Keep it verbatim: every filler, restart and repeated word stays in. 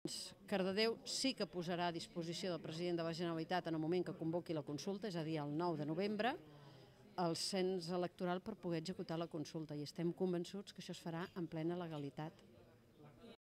Doncs Cardedeu sí que posarà a disposició del president de la Generalitat en el moment que convoqui la consulta, és a dir, el nou de novembre, el cens electoral per poder executar la consulta i estem convençuts que això es farà en plena legalitat.